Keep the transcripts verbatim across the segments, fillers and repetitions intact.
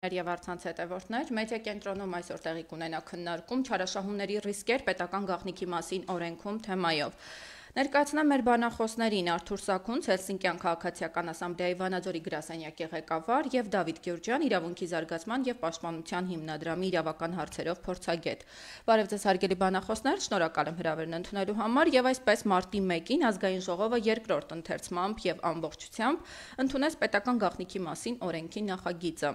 Եվ առցանց հետևորդներ, մեդիա կենտրոնում այսօր տեղի կունենա քննարկում չարաշահումների ռիսկեր պետական գաղտնիքի մասին օրենքում թեմայով։ Ներկայացնեմ մեր բանախոսներին Արթուր Սաքունց, Հելսինկյան քաղաքացիական ասամբլեայի Վանաձորի գրասենյակի ղեկավար եւ Դավիթ Գյուրջյան, իրավունքի զարգացման եւ պաշտպանության հիմնադրամի իրավական հարցերով փորձագետ։ Բարև ձեզ հարգելի բանախոսներ, շնորհակալ եմ հրավերն ընդունելու համար եւ այսպես մարտի մեկին ազգային ժողովը երկրորդ ընթերցմամբ եւ ամբողջությամբ ընդունեց պետական գաղտնիքի մասին օրենքի նախագիծը։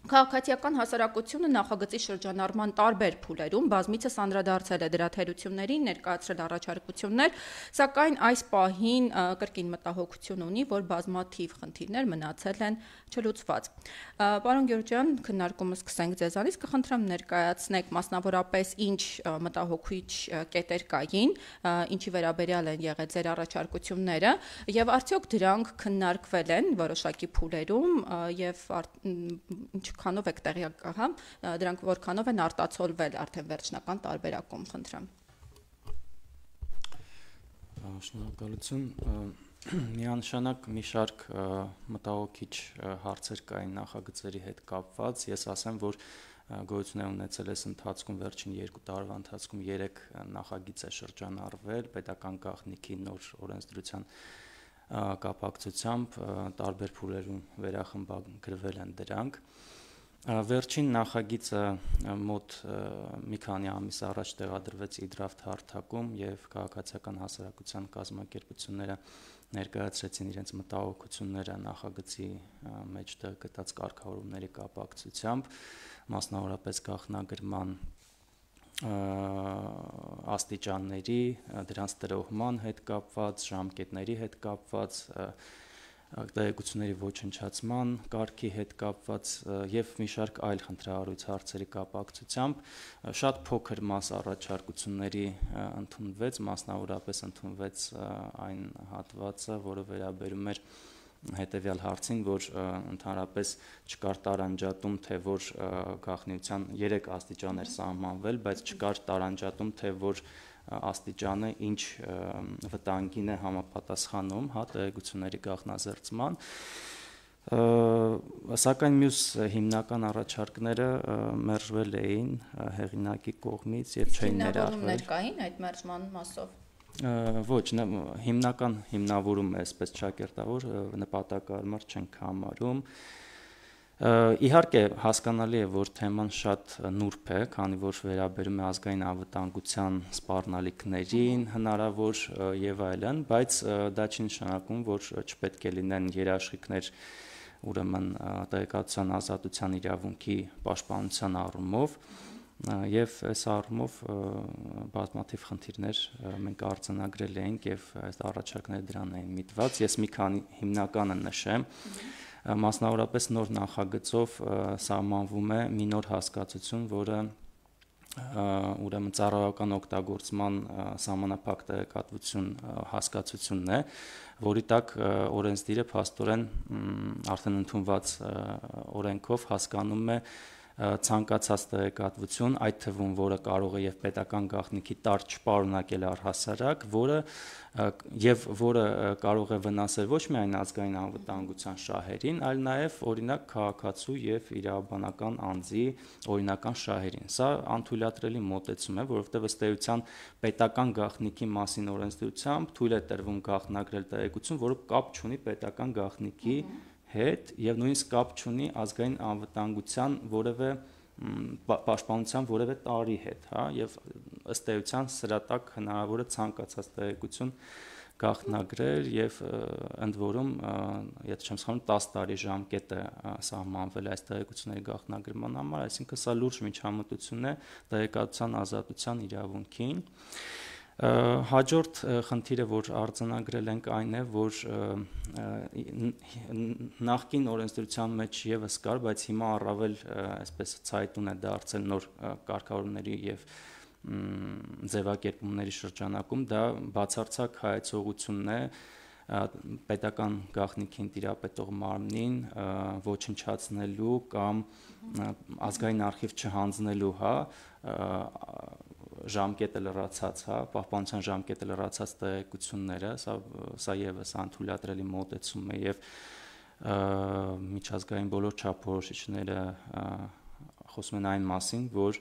Քաղաքացիական հասարակությունը նախագծի շրջանառման տարբեր փուլերում բազմիցս անդրադարձել է դրա թերություններին, ներկայացրել առաջարկություններ, սակայն այս պահին կրկին մտահոգություն ունի, որ բազմաթիվ խնդիրներ մնացել են չլուծված։ Պարոն Գյուրջյան, քննարկումը սկսենք ձեզանից, կխնդրեմ ներկայացնեք մասնավորապես ինչ մտահոգիչ կետեր կային, ինչի վերաբերյալ են եղել ձեր առաջարկությունները եւ արդյոք դրանք քննարկվել են որոշակի փուլերում եւ քանով եք տեղյակ, հա, դրանք որքանով են արտացոլվել արդեն վերջնական տարբերակում, խնդրեմ։ Շնորհակալություն։ Միանշանակ մի շարք մտահոգիչ հարցեր կային նախագծերի հետ կապված։ Ես ասեմ, որ գոյություն է ունեցել այս ընթացքում վերջին երկու տարվա ընթացքում երեք նախագիծ է շրջանառվել պետական գաղտնիքի նոր օրենսդրության կապակցությամբ տարբեր փուլերում վերախմբագրվել են դրանք։ Վերջին նախագիծը մոտ մի քանի ամիս առաջ տեղադրվեց իդրաֆտ հարթակում եւ քաղաքացիական հասարակության կազմակերպությունները ներկայացրեցին իրենց մտահոգությունները նախագծի մեջտեղ գտած կարգավորումների կապակցությամբ, մասնավորապես գաղտնագրման աստիճանների, դրանց տրոհման հետ կապված, ժամկետների հետ կապված, տեղեկությունների ոչնչացման կարգի հետ կապված եւ մի շարք այլ խնդրահարույց հարցերի կապակցությամբ շատ փոքր մաս առաջարկությունների ընդունվեց, մասնավորապես ընդունվեց այն հատվածը, որը վերաբերում էր հետևյալ հարցին, որ ընդհանրապես չկար տարանջատում, թե որ գաղտնիության երեք աստիճան էր սահմանվել, բայց չկար տարանջատում, թե որ աստիճանը ինչ վտանգին է համապատասխանում, հա, տեղեկությունների գաղտնազերծման, սակայն մյուս հիմնական առաջարկները մերժվել էին հեղինակի կողմից եւ չէին ներառվել։ Հիմնավորումներ կային այդ մերժման մասով։ Ոչ, հիմնական հիմնավորումը այսպես ճակերտավոր նպատակարար չենք համարում։ Իհարկե հասկանալի է, որ թեման շատ նուրբ է, քանի որ վերաբերում է ազգային անվտանգության սպառնալիքներին, հնարավոր եւ այլն, բայց դա չի նշանակում, որ չպետք է լինեն երաշխիքներ, ուրեմն տեղեկատվության ազատության իրավունքի պաշտպանության առումով, եւ այս առումով բազմաթիվ խնդիրներ մենք արձանագրել ենք եւ այս առաջարկները դրան էին միտված։ Ես մի քանի հիմնականը նշեմ։ Մասնավորապես նոր նախագծով սահմանվում է մի նոր հասկացություն, որը ուրեմն ծառայական օգտագործման սահմանափակ տեղեկատվություն հասկացությունն է, որի տակ օրենսդիրը փաստորեն արդեն ընդունված օրենքով հասկանում է ցանկացած տեղեկատվություն, այդ թվում, որը կարող է եւ պետական գաղտնիքի տար չպարունակել առհասարակ, որը եւ որը կարող է վնասել ոչ միայն ազգային անվտանգության շահերին, այլ նաեւ օրինակ քաղաքացու եւ իրավաբանական անձի օրինական շահերին։ Սա անթույլատրելի մոտեցում է, որովհետեւ ըստ էության պետական գաղտնիքի մասին օրենսդրությամբ թույլ է տրվում գաղտնագրել տեղեկություն, որը կապ չունի պետական գաղտնիքի հետ եւ նույնիսկ կապ չունի ազգային անվտանգության որևէ պաշտպանության որևէ տարի հետ, հա, եւ ըստ էության սրա տակ հնարավոր է ցանկացած տեղեկություն գաղտնագրել եւ ընդ որում, եթե չեմ սխալվում, տասը տարի ժամկետ է սահմանվել այս տեղեկությունների գաղտնագրման համար, այսինքն սա լուրջ միջամտություն է տեղեկատվության ազատության իրավունքին։ Հաջորդ խնդիրը, որ արձանագրել ենք, այն է, որ նախկին օրենսդրության մեջ եւս կար, բայց հիմա առավել այսպես ցայտուն է դարձել նոր կարգավորումների եւ ձևակերպումների շրջանակում, դա բացարձակ հայեցողությունն է պետական գաղտնիքին տիրապետող մարմնին ոչնչացնելու կամ ազգային արխիվ չհանձնելու, հա, ժամկետը լրացած, հա, պահպանության ժամկետը լրացած տեղեկությունները, սա սա եւս անթույլատրելի մոտեցում է եւ միջազգային բոլոր չափորոշիչները խոսում են այն մասին, որ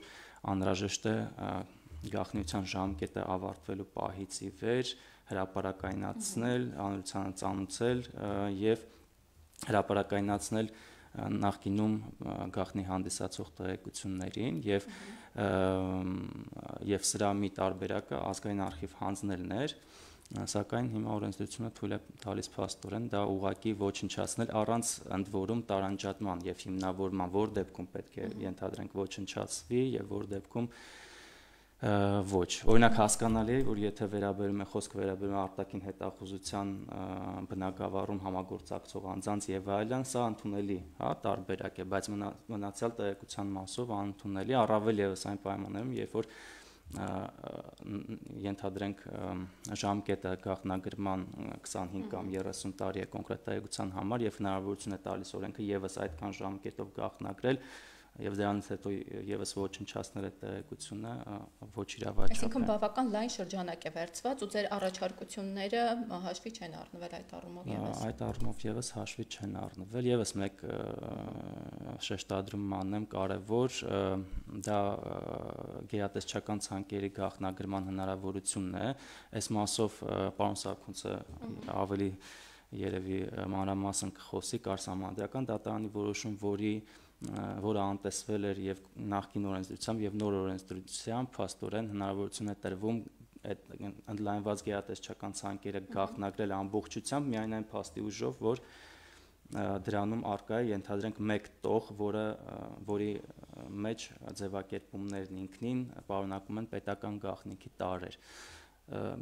անհրաժեշտ է գաղտնիության ժամկետը ավարտվելու պահից ի վեր հրապարակայնացնել, հանրությանը ծանուցել եւ հրապարակայնացնել նախկինում գաղտնի հանդիսացող տեղեկություններին եւ եւ սրա մի տարբերակը ազգային արխիվ հանձնելն էր, սակայն հիմա օրենսդրությունը թույլ է տալիս փաստորեն դա ուղղակի ոչնչացնել առանց ընդ որում տարանջատման եւ հիմնավորման, որ դեպքում պետք է ենթադրենք ոչնչացվի եւ որ դեպքում ոչ։ Օրինակ հասկանալի է, որ եթե վերաբերում է խոսքը վերաբերում է արտաքին հետախուզության բնակավարում համագործակցող անձանց եւ այլն, սա ընդունելի, հա, տարբերակ է, բայց մնացյալ տեղեկության մասով անընդունելի, առավել եւս այն պայմաններում, երբ որ ենթադրենք ժամկետը գաղտնագրման քսանհինգ կամ երեսուն տարի է կոնկրետ տեղեկության համար եւ հնարավորություն է տալիս օրենքը եւս այդքան ժամկետով գաղտնագրել եւ դրանից հետո եւս ոչնչացնել այդ տեղեկությունը ոչ իրավաչափ է։ Այսինքն բավական լայն շրջանակ է վերցված ու ձեր առաջարկությունները հաշվի չեն առնվել այդ առումով եւս։ Այդ առումով եւս հաշվի չեն առնվել, եւս մեկ շեշտադրում անեմ կարեւոր, դա գերատեսչական ցանկերի գաղտնագրման հնարավորությունն է։ Այս մասով պարոն Սարգսյանը ավելի երևի մանրամասն կխոսի կար սահմանադրական դատարանի որոշում, որի որը անտեսվել էր եւ նախկին օրենսդրությամբ եւ նոր օրենսդրությամբ փաստորեն հնարավորություն է տրվում այդ ընդլայնված գերատեսչական ցանկերը գաղտնագրել ամբողջությամբ միայն այն փաստի ուժով, որ դրանում արկա է ենթադրենք մեկ տող, որը որի մեջ ձևակերպումներն ինքնին պարունակում են պետական գաղտնիքի տարրեր։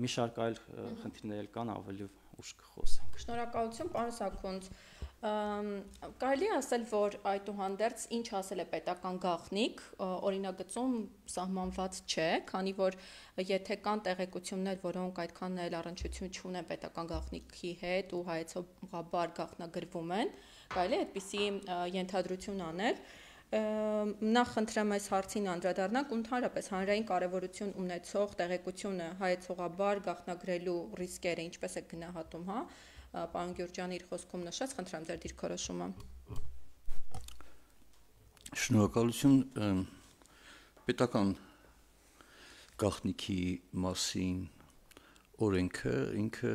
Մի շարք այլ խնդիրներ կան, ավելի ուշ կխոսենք։ Շնորհակալություն, պարոն Սաքունց։ Կարելի է ասել, որ այդուհանդերձ ինչ ասել է պետական գաղտնիք, օրինագծում սահմանված չէ, քանի որ եթե կան տեղեկություններ, որոնք այդքան էլ առնչություն չունեն պետական գաղտնիքի հետ ու հայեցողաբար գաղտնագրվում են, կարելի է այդպիսի ենթադրություն անել։ Նախ խնդրեմ այս հարցին անդրադառնանք ու ընդհանրապես հանրային կարևորություն ունեցող տեղեկությունը հայեցողաբար գաղտնագրելու ռիսկերը ինչպես է գնահատում, հա։ Պարոն Գյուրջյանը իր խոսքում նշեց, խնդրեմ ձեր դիրքորոշումը։ Շնորհակալություն, պետական գաղտնիքի մասին օրենքը ինքը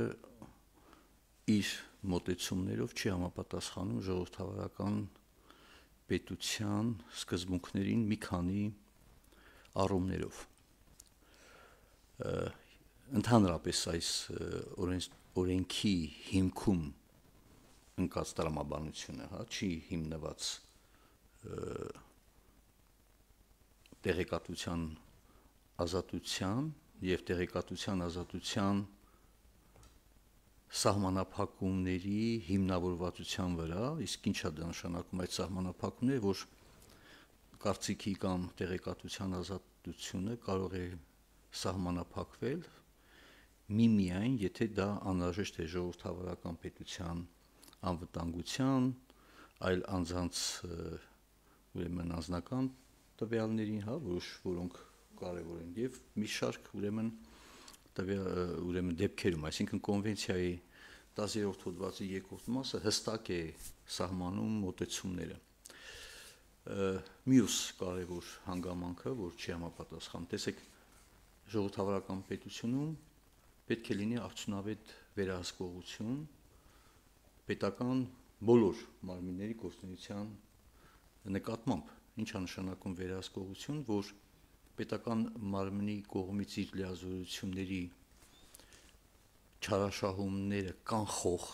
իր մոտեցումներով չի համապատասխանում ժողովրդավարական պետության սկզբունքներին մի քանի առումներով։ Ընդհանրապես այս օրենքի հիմքում ընկած տրամաբանությունը, հա, չի հիմնված տեղեկատվության ազատության եւ տեղեկատվության ազատության սահմանափակումների հիմնավորվածության վրա, իսկ ինչ է դա նշանակում այդ սահմանափակումները, որ կարծիքի կամ տեղեկատվության ազատությունը կարող է սահմանափակվել միմիայն, եթե դա անհրաժեշտ է ժողովրդավարական պետության անվտանգության, այլ անձանց ուրեմն անձնական տվյալներին, հա, որոշ որոնք կարևոր են եւ մի շարք ուրեմն ուրեմն դեպքերում, այսինքն կոնվենցիայի տասներորդ հոդվածի երկրորդ մասը հստակ է սահմանում մոտեցումները։ Մյուս կարևոր հանգամանքը, որ չի համապատասխանում, տեսեք, ժողովրդավարական պետությունում պետք է լինի արդյունավետ վերահսկողություն պետական բոլոր մարմինների գործունեության նկատմամբ։ Ինչ է նշանակում վերահսկողություն, որ պետական մարմնի կողմից իր լիազորությունների չարաշահումները կանխող,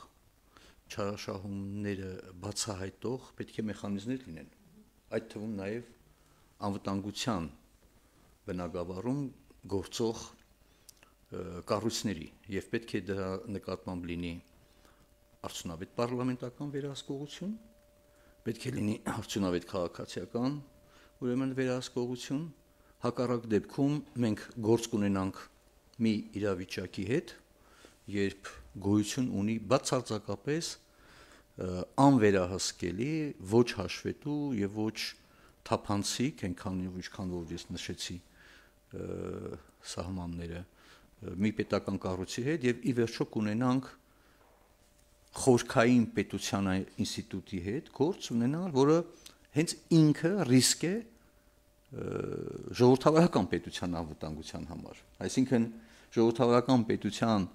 չարաշահումները բացահայտող պետք է մեխանիզմներ լինեն։ Այդ թվում նաև անվտանգության բնագավառում գործող կառույցների եւ պետք է դրա նկատմամբ լինի արդյունավետ պարլամենտական վերահսկողություն, պետք է լինի արդյունավետ քաղաքացիական ուրեմն վերահսկողություն, հակառակ դեպքում մենք գործ կունենանք մի իրավիճակի հետ, երբ գոյություն ունի բացարձակապես անվերահսկելի, ոչ հաշվետու եւ ոչ թափանցիկ, այնքան ինչքան որ ես նշեցի սահմանները մի պետական կառույցի հետ եւ ի վերջո կունենանք խորքային պետության ինստիտուտի հետ գործ ունենալ, որը հենց ինքը ռիսկ է ժողովրդավարական պետության անվտանգության համար։ Այսինքն ժողովրդավարական պետության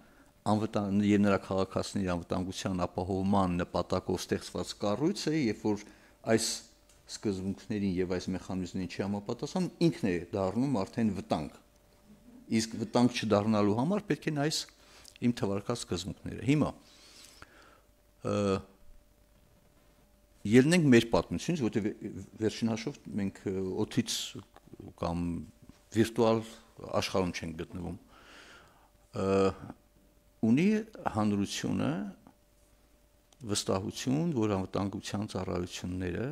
անվտանգ եւ նրա քաղաքացիների անվտանգության ապահովման նպատակով ստեղծված կառույց է, երբ որ այս սկզբունքներին եւ այս մեխանիզմներին չի համապատասխանում, ինքն է դառնում արդեն վտանգ։ Իսկ վտանգ չդառնալու համար պետք է այս իմ թվարկած սկզբունքները։ Հիմա ելնենք մեր պատմությունից, որտեղ վերջին հաշվով մենք օդից կամ վիրտուալ աշխարհում չենք գտնվում։ Ունի հանրությունը վստահություն, որ անվտանգության ծառայությունները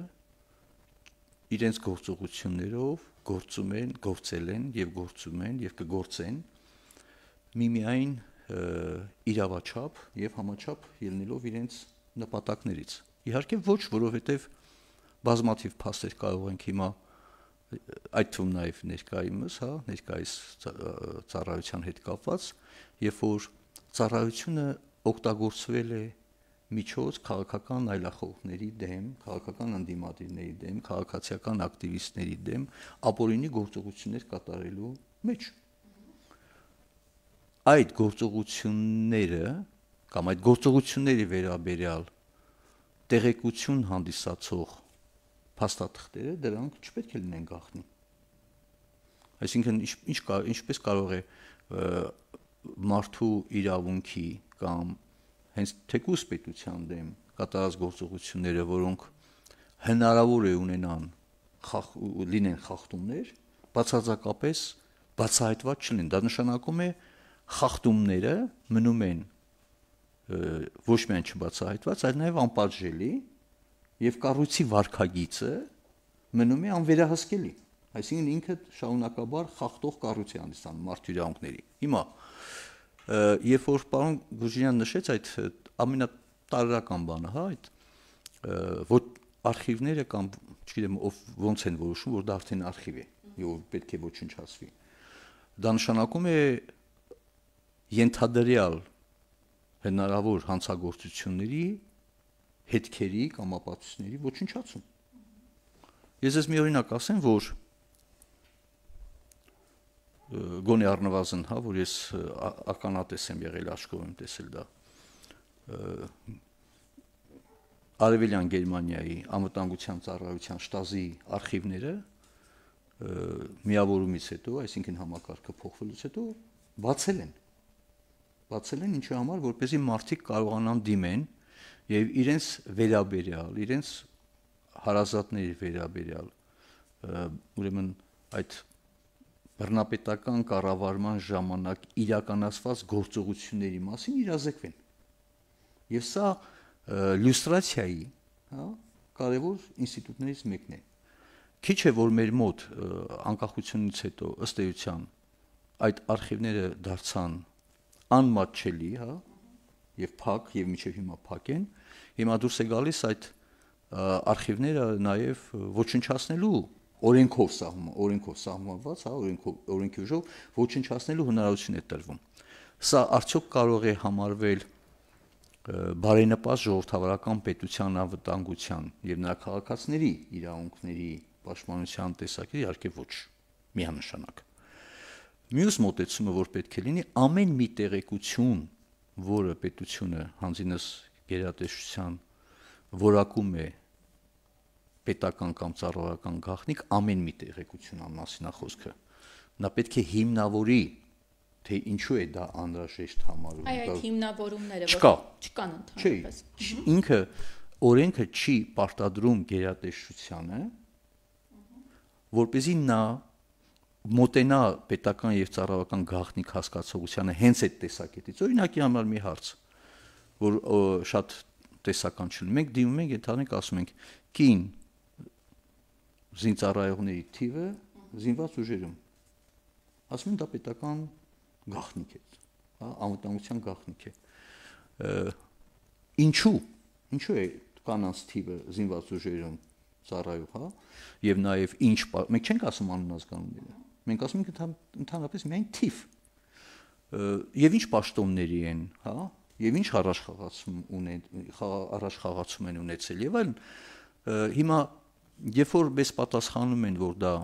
իրենց գործողություններով գործում են, գործել են եւ գործում են եւ կգործեն միմիայն իրավաչափ եւ համաչափ ելնելով իրենց նպատակներից։ Իհարկե ոչ, որովհետեւ բազմաթիվ փաստեր կարող ենք հիմա այդ թվում նաեւ ներկայումս, հա, ներկայիս ծառայության հետ կապված, երբ որ ծառայությունը օգտագործվել է միջոց քաղաքական այլախոհների դեմ, քաղաքական ընդդիմադիրների դեմ, քաղաքացիական ակտիվիստների դեմ ապօրինի գործողություններ կատարելու մեջ։ Այդ գործողությունները կամ այդ գործողությունների վերաբերյալ տեղեկություն հանդիսացող փաստաթղթերը դրանք չպետք է լինեն գաղտնի։ Այսինքն ինչ ինչպես կարող է մարդու իրավունքի կամ հենց թեկուզ պետության դեմ կատարած գործողությունները, որոնք հնարավոր է ունենան լինեն խախտումներ, բացարձակապես բացահայտված չլինեն։ Դա նշանակում է խախտումները մնում են ոչ միայն չբացահայտված, այլ նաև անպատժելի եւ կառույցի վարքագիծը մնում է անվերահսկելի։ Այսինքն ինքը շարունակաբար խախտող կառույց է հանդիսանում մարդու իրավունքների։ Հիմա երբ որ պարոն Գուժինյանը նշեց այդ ամենատարրական բանը, հա, այդ որ արխիվները կամ չգիտեմ ով ոնց են որոշում, որ դա արդեն արխիվ է, եւ պետք է ոչնչացվի։ Դա նշանակում է ենթադրյալ հնարավոր հանցագործությունների հետքերի կամ ապացույցների ոչնչացում։ Ես ես մի օրինակ ասեմ, որ գոնե առնվազն, հա, որ ես ականատես եմ եղել, աչքով եմ տեսել դա։ Արևելյան Գերմանիայի անվտանգության ծառայության շտազի արխիվները միավորումից հետո, այսինքն համակարգը փոխվելուց հետո բացել են։ Բացել են ինչի համար, որպեսզի մարդիկ կարողանան դիմեն եւ իրենց վերաբերյալ, իրենց հարազատների վերաբերյալ, ուրեմն այդ բռնապետական կառավարման ժամանակ իրականացված գործողությունների մասին իրազեկվեն։ Եվ սա լյուստրացիայի, հա, կարևոր ինստիտուտներից մեկն է։ Քիչ է որ մեր մոտ անկախությունից հետո ըստ էության այդ արխիվները դարձան անմատչելի, հա, եւ փակ եւ միջև հիմա փակ են, հիմա դուրս է գալիս այդ արխիվները նաեւ ոչնչացնելու օրենքով սահման, օրենքով սահմանված, հա, օրենքով օրենքի ուժով ոչնչացնելու հնարավորություն է տրվում։ Սա արդյոք կարող է համարվել բարենպաստ ժողովրդավարական պետության անվտանգության եւ նրա քաղաքացիների իրավունքների պաշտպանության տեսակետից, իհարկե ոչ, միանշանակ։ Մյուս մոտեցումը, որ պետք է լինի, ամեն մի տեղեկություն, որը պետությունը հանձինս գերատեսչության որակում է պետական կամ ծառայական գաղտնիք, ամեն մի տեղեկություն ամասին խոսքը, նա պետք է հիմնավորի, թե ինչու է դա անհրաժեշտ համարում։ Այ այդ հիմնավորումները չկա, չկան ընդհանրապես։ Ինքը օրենքը չի պարտադրում գերատեսչությանը, որպեսզի նա մոտենա պետական եւ ծառայական գաղտնիք հասկացողությանը հենց այդ տեսակետից։ Օրինակի համար մի հարց, որ շատ տեսական չլինի։ Մենք դիմում ենք, ընդհանրենք ասում ենք, կին զինծառայողների թիվը զինված ուժերում։ Ասում են դա պետական գաղտնիք է, հա, անվտանգության գաղտնիք է։ Ինչու՞, ինչու է կանանց թիվը զինված ուժերում ծառայող, հա, եւ նաեւ ինչ, մենք չենք ասում անունազգանունները։ Մենք ասում ենք ընդհանրապես միայն թիվ։ Եվ ինչ պաշտոնների են, հա, եւ ինչ առաջխաղացում ունեն առաջխաղացում են ունեցել եւ այլն, հիմա երբ որ մեզ պատասխանում են, որ դա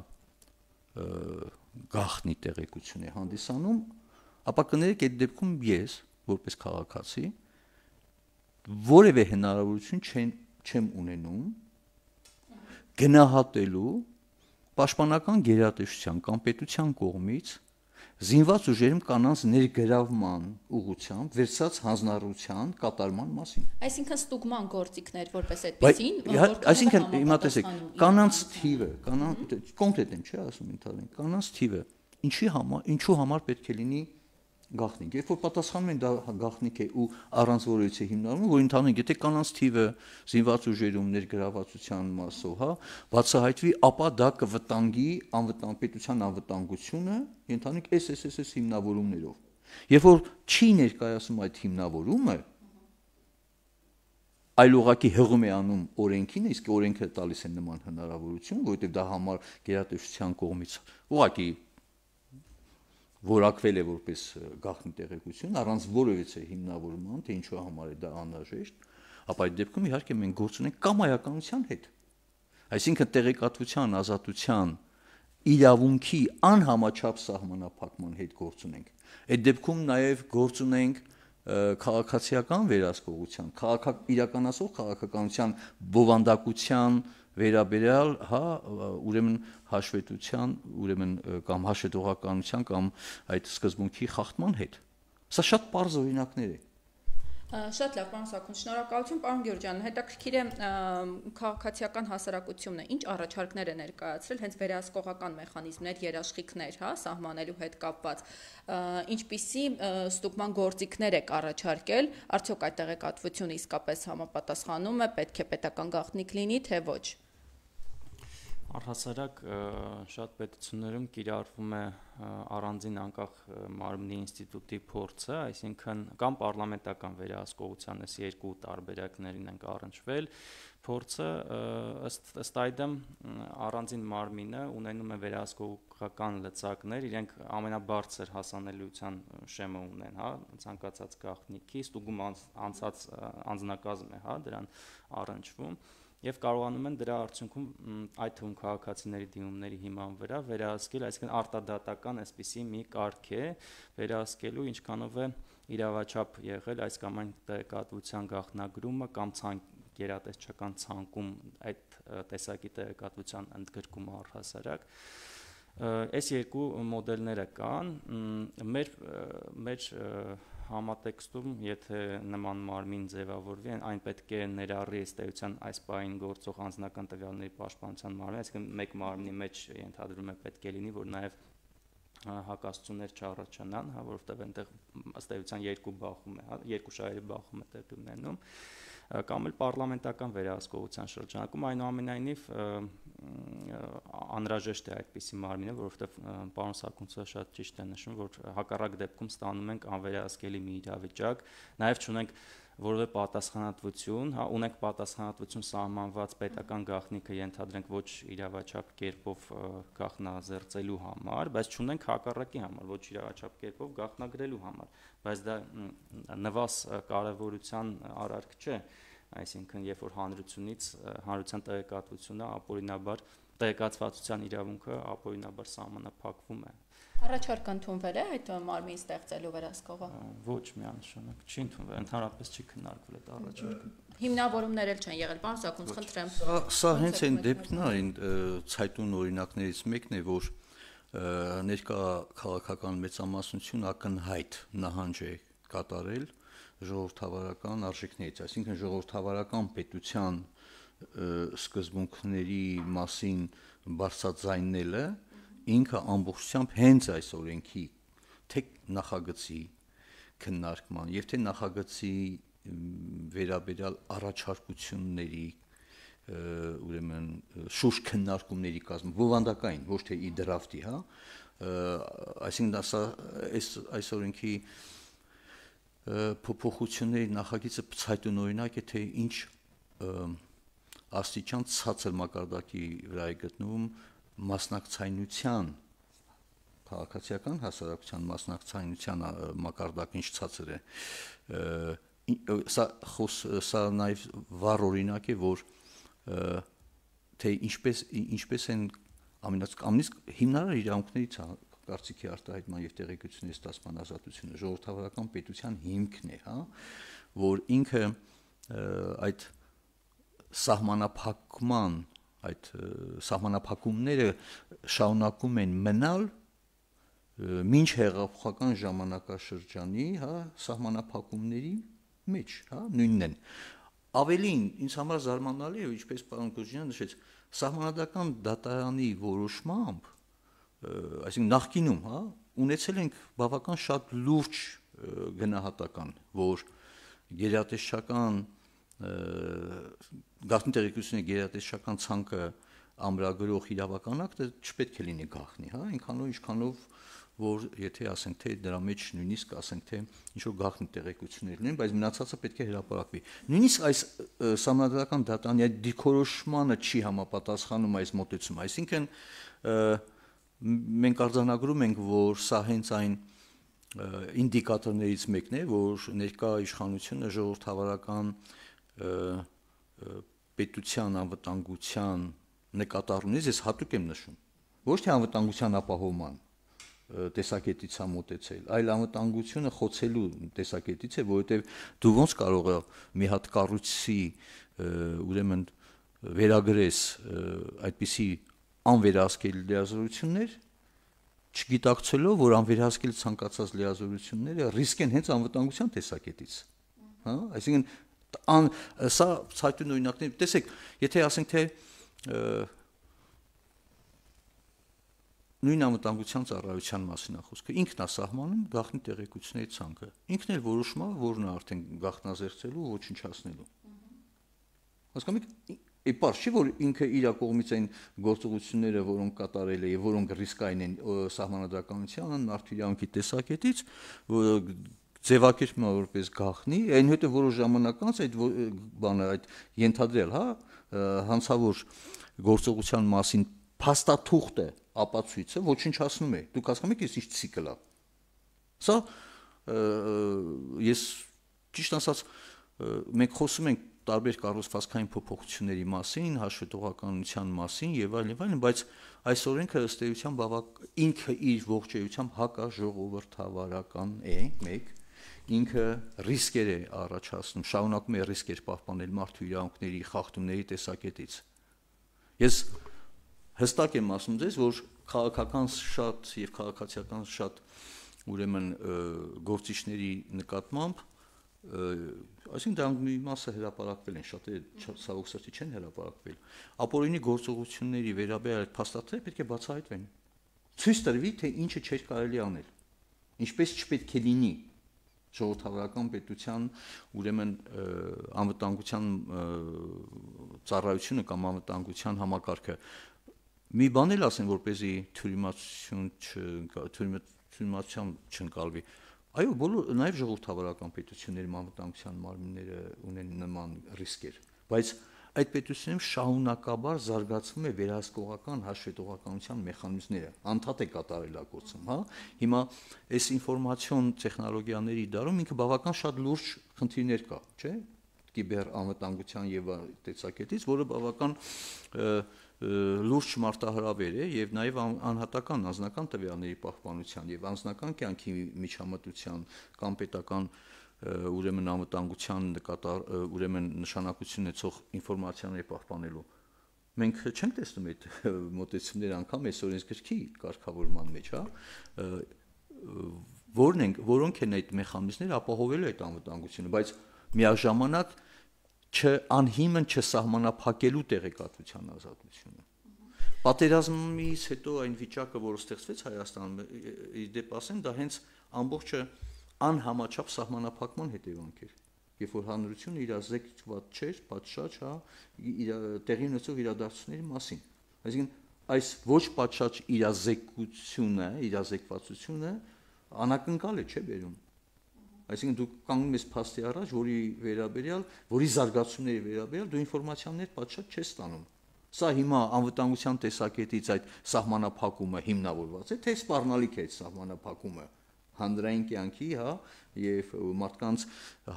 գաղտնի տեղեկություն է հանդիսանում, ապա կներեք այդ դեպքում ես որպես քաղաքացի որևէ հնարավորություն չեմ չեմ ունենում գնահատելու պաշտպանական գերատեսչության կամ պետության կողմից զինված ուժերում կանանց ներգրավման ուղղությամբ վերցած հանձնառության կատարման մասին։ Այսինքն ստուգման գործիքներ որպես այդպեսին, այսինքն հիմա տեսեք, կանանց թիվը, կանանց կոնկրետ եմ, չէ՞ ասում ընդհանրեն, կանանց թիվը ինչի համար, ինչու համար պետք է լինի գաղտնիք։ Երբ որ պատասխանում են դա գաղտնիք է ու առանց որևիցե հիմնարանում, որ ընդհանրեն եթե կանանց թիվը զինված ուժերում ներգրավվածության մասով, հա, բացահայտվի, ապա դա կվտանգի անվտանգ պետության անվտանգությունը, ընդհանրեն էս էս էս հիմնավորումներով։ Երբ որ չի ներկայացում այդ հիմնավորումը, այլ ուղղակի հղում է անում օրենքին, իսկ օրենքը տալիս է նման հնարավորություն, որովհետև դա համար գերատեսչության կողմից ուղղակի որակվել է որպես գաղտնի տեղեկություն, առանց որևիցե հիմնավորման, թե ինչու համար է դա անհրաժեշտ, ապա այդ դեպքում իհարկե մենք գործ ունենք կամայականության հետ։ Այսինքն տեղեկատվության ազատության իրավունքի անհամաչափ սահմանափակման հետ գործ ունենք։ Այդ դեպքում նաև գործ ունենք քաղաքացիական վերահսկողության, քաղաքակ իրականացող քաղաքականության բովանդակության վերաբերյալ, հա, ուրեմն հաշվետվության, ուրեմն կամ հաշվետվողականության կամ այդ սկզբունքի խախտման հետ։ Սա շատ պարզ օրինակներ է։ Շատ լավ, պարոն Սաքուն, շնորհակալություն, պարոն Գյուրջյան, հետաքրքիր է քաղաքացիական հասարակությունը ինչ առաջարկներ է ներկայացրել հենց վերահսկողական մեխանիզմներ, երաշխիքներ, հա, սահմանելու հետ կապված, ինչպիսի ստուգման գործիքներ եք առաջարկել, արդյոք այդ տեղեկատվությունը իսկապես համապատասխանում է, պետք է պետական գաղտնիք լինի, թե ոչ։ Առհասարակ շատ պետություններում կիրառվում է առանձին անկախ մարմնի ինստիտուտի փորձը, այսինքն կամ պարլամենտական վերահսկողության այս երկու տարբերակներին ենք առնչվել, փորձը ըստ ըստ այդմ առանձին մարմինը ունենում է վերահսկողական լծակներ, իրենք ամենաբարձր հասանելիության շեմը ունեն, հա, ցանկացած գաղտնիքի, ստուգում անցած անձնակազմ է, հա, դրան առնչվում եւ կարողանում են դրա արդյունքում այդ թվում քաղաքացիների դիմումների հիման վրա վերահսկել, այսինքն արտադատական այսպիսի մի կարգ է վերահսկելու, ինչքանով է իրավաչափ եղել այս կամ այն տեղեկատվության գաղտնագրումը կամ գերատեսչական ցանկում այդ տեսակի տեղեկատվության ընդգրկումը առհասարակ։ Այս երկու մոդելները կան, մեր մեր համատեքստում, եթե նման մարմին ձևավորվի, այն պետք է ներառի ըստ էության այս պահին գործող անձնական տվյալների պաշտպանության մարմին, այսինքն մեկ մարմնի մեջ ենթադրում է պետք է լինի, որ նաև հակասություններ չառաջանան, հա, որովհետև այնտեղ ըստ էության երկու բախում է, հա, երկու շահերի բախում է տեղի ունենում, կամ էլ պարլամենտական վերահսկողության շրջանակում, այնուամենայնիվ անհրաժեշտ է այդպիսի մարմինը, որովհետև պարոն Սաքունցը շատ ճիշտ է նշում, որ հակառակ դեպքում ստանում ենք անվերահսկելի մի իրավիճակ, նաև չունենք որևէ պատասխանատվություն, հա, ունենք պատասխանատվություն սահմանված պետական գաղտնիքը ենթադրենք ոչ իրավաչափ կերպով գաղտնազերծելու համար, բայց չունենք հակառակի համար, ոչ իրավաչափ կերպով գաղտնագրելու համար, բայց դա նվազ կարևորության արարք չէ, այսինքն երբ որ հանրությունից հանրության տեղեկատվությունը ապօրինաբար տեղեկացվածության իրավունքը ապօրինաբար սահմանափակվում է։ Առաջարկը ընդունվել է այդ մարմին ստեղծելու վերահսկողը։ Ոչ միանշանակ չի ընդունվել, ընդհանրապես չի քննարկվել այդ առաջարկը։ Հիմնավորումներ էլ չեն եղել, պարոն Սաքուն, խնդրեմ։ Սա հենց այն դեպքն է, այն ցայտուն օրինակներից մեկն է, որ ներկա քաղաքական մեծամասնությունը ակնհայտ նահանջ է կատարել ժողովրդավարական արժեքներից, այսինքն ժողովրդավարական պետության սկզբունքների մասին բարձրաձայնելը ինքը ամբողջությամբ հենց այս օրենքի թե նախագծի քննարկման եւ թե նախագծի վերաբերյալ առաջարկությունների ուրեմն շուրջ քննարկումների կազմում բովանդակային, ոչ թե ի դրաֆտի, հա, այսինքն դա այս այս օրենքի փոփոխությունների նախագիծը ցայտուն օրինակ է, թե ինչ աստիճան ցածր մակարդակի վրա է գտնվում մասնակցայնության քաղաքացիական հասարակության մասնակցայնության մակարդակը ինչ ցածր է սա խոս սա նաև վառ օրինակ է, որ թե ինչպես ինչպես են ամենից հիմնարար իրավունքներից կարծիքի արտահայտման եւ տեղեկությունների ստացման ազատությունը ժողովրդավարական պետության հիմքն է, հա, որ ինքը այդ սահմանափակման այդ սահմանափակումները շարունակում են մնալ մինչ հեղափոխական ժամանակաշրջանի, հա, սահմանափակումների մեջ, հա, նույնն են։ Ավելին, ինձ համար զարմանալի է, ինչպես պարոն Կոջյանը նշեց, սահմանադրական դատարանի որոշմամբ, այսինքն նախկինում, հա, ունեցել ենք բավական շատ լուրջ գնահատական, որ գերատեսչական գաղտնի տեղեկությունների գերատեսչական ցանկը ամրագրող իրավական ակտը չպետք է լինի գաղտնի, հա, այնքանով ինչքանով որ եթե ասենք թե դրա մեջ նույնիսկ ասենք թե ինչ որ գաղտնի տեղեկություններ լինեն, բայց մնացածը պետք է հրապարակվի։ Նույնիսկ այս սահմանադրական դատարանի այդ դիրքորոշմանը չի համապատասխանում այս մոտեցումը, այսինքն մենք արձանագրում ենք, որ սա հենց այն ինդիկատորներից մեկն է, որ ներկա իշխանությունը ժողովրդավարական պետության անվտանգության նկատառումից ես հատուկ եմ նշում, ոչ թե անվտանգության ապահովման տեսակետից է մոտեցել, այլ անվտանգությունը խոցելու տեսակետից է, որովհետև դու ոնց կարող ես մի հատ կառույցի ուրեմն վերագրես այդպիսի անվերահսկելի լիազորություններ, չգիտակցելով, որ անվերահսկել ցանկացած լիազորությունները ռիսկ են հենց անվտանգության տեսակետից, հա, այսինքն սա ցայտուն օրինակներ, տեսեք, եթե ասենք թե նույն անվտանգության ծառայության մասին է խոսքը, ինքն է սահմանում գաղտնի տեղեկությունների ցանկը, ինքն էլ որոշում է, որն է արդեն գաղտնազերծելու ու ոչնչացնելու։ Հասկանում եք, իբար չի, որ ինքը իր կողմից այն գործողությունները, որոնք կատարել է եւ որոնք ռիսկային են սահմանադրականության, մարդու իրավունքի տեսակետից, ձևակերպվում է որպես գաղտնի, այնուհետև որոշ ժամանակ անց այդ բանը այդ ենթադրել, հա, հանցավոր գործողության մասին փաստաթուղթը ապացույցը ոչնչացնում է։ Դուք հասկանում եք, ես ինչ ցիկլ է։ Սա ես ճիշտ ասած մենք խոսում ենք տարբեր կառուցվածքային փոփոխությունների մասին, հաշվետվողականության մասին եւ այլն եւ այլն, բայց այս օրենքը ըստ էության բավական ինքը իր ողջեյությամբ հակաժողովրդավարական է, մեկ, ինքը ռիսկեր է առաջացնում, շարունակում է ռիսկեր պահպանել մարդու իրավունքների խախտումների տեսակետից։ Ես հստակ եմ ասում ձեզ, որ քաղաքական շատ եւ քաղաքացիական շատ ուրեմն գործիչների նկատմամբ, այսինքն դրանք մի մասը հրապարակվել են, շատերը ցավոք սրտի չեն հրապարակվել, ապօրինի գործողությունների վերաբերյալ այդ փաստաթղթերը պետք է բացահայտվեն։ Ցույց տրվի, թե ինչը չէր կարելի անել, ինչպես չպետք է լինի ժողովրդավարական պետության ուրեմն անվտանգության ծառայությունը կամ անվտանգության համակարգը։ Մի բան էլ ասեմ, որպեսզի թյուրիմացություն թյուրիմացության չընկալվի։ Այո, բոլոր նաև ժողովրդավարական պետությունների անվտանգության մարմինները ունեն նման ռիսկեր, բայց այդ պետությունում շահունակաբար զարգացվում է վերահսկողական հաշվետվողականության մեխանիզմները, անդադ է կատարելագործում, հա։ Հիմա այս ինֆորմացիոն տեխնոլոգիաների դարում ինքը բավական շատ լուրջ խնդիրներ կա, չէ՞։ Կիբեր անվտանգության եւ տեսակետից, որը բավական լուրջ մարտահրավեր է եւ նաեւ անհատական անձնական տվյալների պահպանության եւ անձնական կյանքի միջամտության կամ պետական ուրեմն անվտանգության նկատառ ուրեմն նշանակություն ունեցող ինֆորմացիաների պահպանելու։ Մենք չենք տեսնում այդ մոտեցումները անգամ այս օրենսգրքի կարգավորման մեջ, հա, որն են, որոնք են այդ մեխանիզմները ապահովելու այդ անվտանգությունը, բայց միաժամանակ չանհիմն չսահմանափակելու տեղեկատվության ազատությունը։ Պատերազմից հետո այն վիճակը, որը ստեղծվեց Հայաստանում, իդեպ ասեմ, դա հենց ամբողջը անհամաչափ սահմանափակման հետևանք էր, երբ որ հանրությունը իրազեկված չէր, պատշաճ, հա, տեղի ունեցող իրադարձությունների մասին։ Այսինքն այս ոչ պատշաճ իրազեկությունը, իրազեկվածությունը անակնկալ է, չէ՞ բերում։ Այսինքն դու կանգնում ես փաստի առաջ, որի վերաբերյալ, որի զարգացումների վերաբերյալ դու ինֆորմացիաներ պատշաճ չես ստանում։ Սա հիմա անվտանգության տեսակետից այդ սահմանափակումը հիմնավորված է, թե սպառնալիք է այդ սահմանափակումը հանրային կյանքի, հա, եւ մարդկանց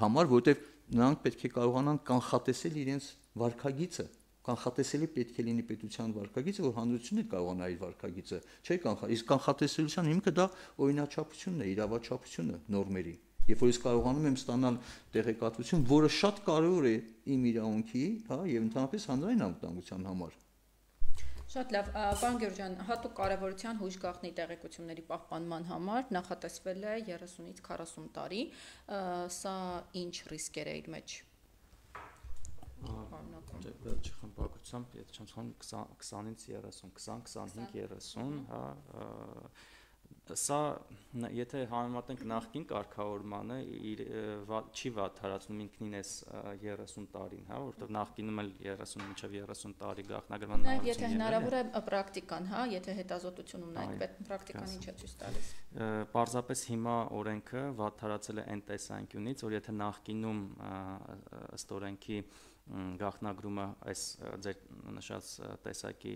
համար, որովհետեւ նրանք պետք է կարողանան կանխատեսել իրենց վարքագիծը, կանխատեսելի պետք է լինի պետության վարքագիծը, որ հանրությունը կարողանա իր վարքագիծը, չէ՞ կանխա, իսկ կանխատեսելիության հիմքը դա օրինաչափությունն է, իրավաչափությունը նորմերի։ Երբ որ ես կարողանում եմ ստանալ տեղեկատվություն, որը շատ կարևոր է իմ իրավունքի, հա, եւ ընդհանրապես հանրային անվտանգության համար։ Շատ լավ, պարոն Գյուրջյան, հատուկ կարևորության հույժ գաղտնի տեղեկությունների պահպանման համար նախատեսվել է երեսունից քառասուն տարի, սա ինչ ռիսկեր է իր մեջ։ Չխմբակությամբ, եթե չեմ սխալվում, քսանից երեսուն, քսան, քսանհինգ, երեսուն, հա, սա եթե համեմատենք նախկին կարգավորմանը, չի վատթարացնում ինքնին էս երեսուն տարին, հա, որովհետև նախկինում էլ երեսուն մինչև երեսուն տարի գաղտնագրման նաև եթե հնարավոր է պրակտիկան, հա, եթե հետազոտություն ունենք, պրակտիկան ինչ է ցույց տալիս։ Պարզապես հիմա օրենքը վատթարացել է այն տեսանկյունից, որ եթե նախկինում ըստ օրենքի գաղտնագրումը այս ձեր նշած տեսակի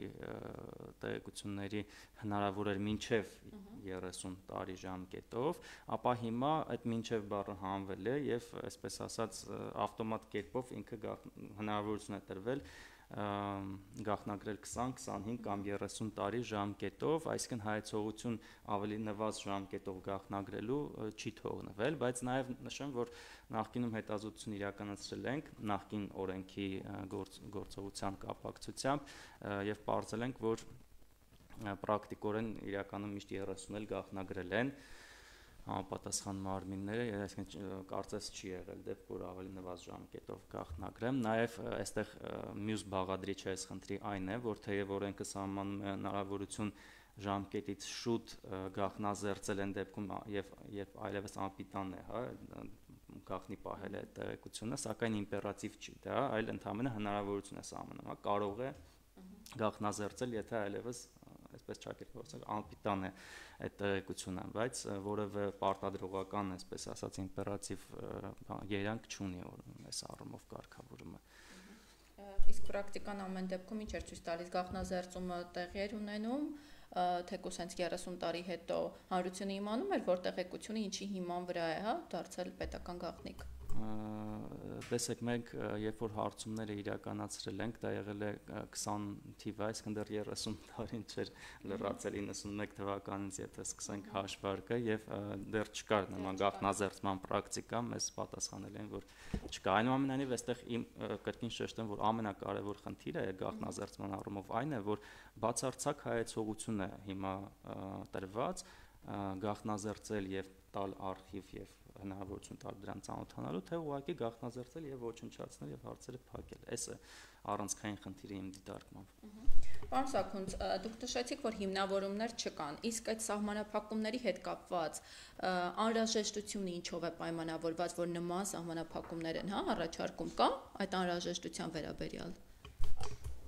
տեղեկությունների հնարավոր էր մինչև երեսուն տարի ժամկետով, ապա հիմա այդ մինչև բառը հանվել է եւ այսպես ասած ավտոմատ կերպով ինքը հնարավորություն է տրվել գաղտնագրել քսան, քսանհինգ կամ երեսուն տարի ժամկետով, այսինքն հայեցողություն ավելի նվազ ժամկետով գաղտնագրելու չի թողնվել, բայց նաև նշեմ, որ նախկինում հետազոտություն իրականացրել ենք նախկին օրենքի գործ, գործողության կապակցությամբ եւ պարզել ենք, որ պրակտիկորեն իրականում միշտ երեսուն էլ գաղտնագրել են համապատասխան մարմինները, այսինքն կարծես չի եղել դեպք, որ ավելի նվազ ժամկետով գաղտնագրեմ, նաև այստեղ մյուս բաղադրիչը այս խնդրի այն է, որ թեև օրենքը սահմանում է հնարավորություն ժամկետից շուտ գաղտնազերծել են դեպքում եւ եւ այլևս անպիտան է, հա, գաղտնի պահել է տեղեկությունը, սակայն իմպերատիվ չի դա, այլ ընդհանրապես հնարավորություն է սահմանում, հա, կարող է գաղտնազերծել, եթե այլևս այսպես ճակերտված անպիտան է այդ տեղեկությունը, բայց որևէ պարտադրողական, այսպես ասած, իմպերատիվ երանգ չունի այս առումով կարգավորումը։ Իսկ պրակտիկան ամեն դեպքում ինչ էր ցույց տալիս, գաղտնազերծումը տեղի էր ունենում, թեկուզ հենց երեսուն տարի հետո հանրությունը իմանում էր, որ տեղեկությունը ինչի հիման վրա է, հա, դարձել պետական գաղտնիք։ Տեսեք, մենք երբ որ հարցումները իրականացրել ենք, դա եղել է քսան թիվը, այսինքն դեռ երեսուն տարին չէր լրացել իննսունմեկ թվականից, եթե սկսենք հաշվարկը, եւ դեռ չկար նման գաղտնազերծման պրակտիկա, մեզ պատասխանել են, որ չկա։ Այնուամենայնիվ, այստեղ իմ կրկին շեշտեմ, որ ամենակարևոր խնդիրը գաղտնազերծման առումով այն է, որ բացարձակ հայեցողություն է հիմա տրված գաղտնազերծել եւ տալ արխիվ եւ հնարավորություն տալ դրան ծանոթանալու, թե ուղղակի գաղտնազերծել եւ ոչնչացնել եւ հարցերը փակել։ Այս է առանցքային խնդիրը իմ դիտարկմամբ։ Պարոն Սաքունց, դուք նշեցիք, որ հիմնավորումներ չկան, իսկ այդ սահմանափակումների հետ կապված անհրաժեշտությունը ինչով է պայմանավորված, որ նման սահմանափակումներ են, հա, առաջարկում կա այդ անհրաժեշտության վերաբերյալ։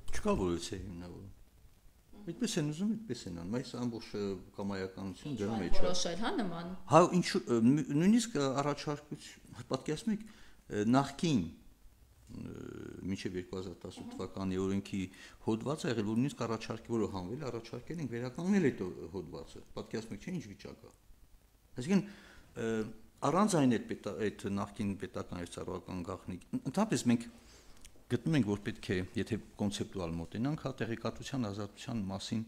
Չկա որևէ հիմնավորում։ Այդպես են ուզում, այդպես են անում, այս ամբողջ կամայականություն դրա մեջ է։ Որոշել, հա, նման։ Հա, ինչ նույնիսկ առաջարկություն, պատկերացնում եք, նախկին մինչև երկու հազար տասութ թվականի օրենքի հոդվածը եղել, որ նույնիսկ առաջարկի, որը հանվել, առաջարկել ենք վերականգնել այդ հոդվածը։ Պատկերացնում եք, չէ՞ ինչ վիճակ է։ Այսինքն առանց այն այդ այդ նախկին պետական եւ ծառայական գաղտնիք, ընդհանրապես մենք գտնում ենք, որ պետք է, եթե կոնցեպտուալ մոտենանք, հա, տեղեկատվության ազատության մասին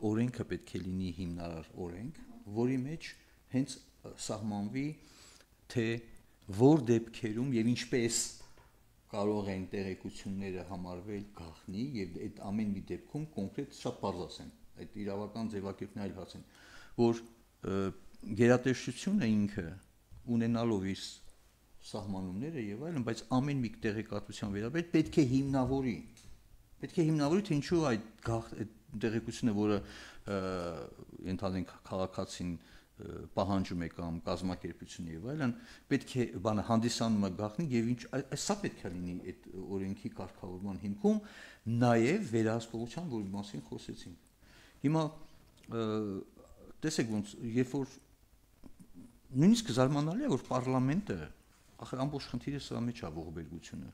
օրենքը պետք է լինի հիմնարար օրենք, որի մեջ հենց սահմանվի, թե որ դեպքերում եւ ինչպես կարող են տեղեկությունները համարվել գաղտնի եւ այդ ամեն մի դեպքում կոնկրետ շատ բարձ ասեմ, այդ իրավական ձևակերպն այլ հարց են, որ գերատեսչությունը ինքը ունենալով իր սահմանումները եւ այլն, բայց ամեն մի տեղեկատվության վերաբերյալ պետք է հիմնավորի։ Պետք է հիմնավորի, թե ինչու այդ տեղեկությունը, որը ընդհանրենք քաղաքացին պահանջում է կամ կազմակերպությունը եւ այլն, պետք է բանը հանդիսանում է գաղտնի եւ ինչ սա պետք է լինի այդ օրենքի կարգավորման հիմքում, նաեւ վերահսկողության, որի մասին խոսեցինք։ Հիմա տեսեք ոնց, երբ որ նույնիսկ զարմանալի է, որ պարլամենտը ախր ամբողջ խնդիրը սրա մեջ է ողբերգությունը։